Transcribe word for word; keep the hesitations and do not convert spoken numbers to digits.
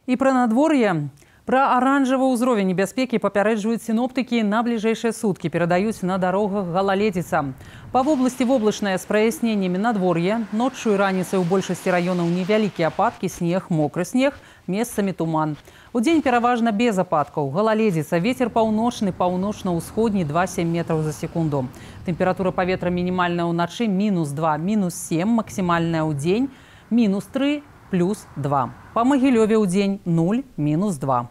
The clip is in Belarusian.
І пра надвор'е. Пра аранжавы ўзровень небяспекі папярэджваюць сіноптыкі на бліжэйшыя суткі, перадаюць на дарогах галаледзіца. Па вобласці воблачнае з праясненнямі надвор'е. Ноччу і раніцай у большасці раёнаў невялікія ападкі, снег, мокры снег, месцамі туман. Удзень пераважна без ападкаў. Галаледзіца, вецер паўночны, паўночна-ўсходні два-сем метраў за секунду. Тэмпература паветра мінімальная ўначы мінус два, мінус сем, максімальная ўдзень мінус тры, плюс два. Па Магілёве ўдзень нуль, мінус два.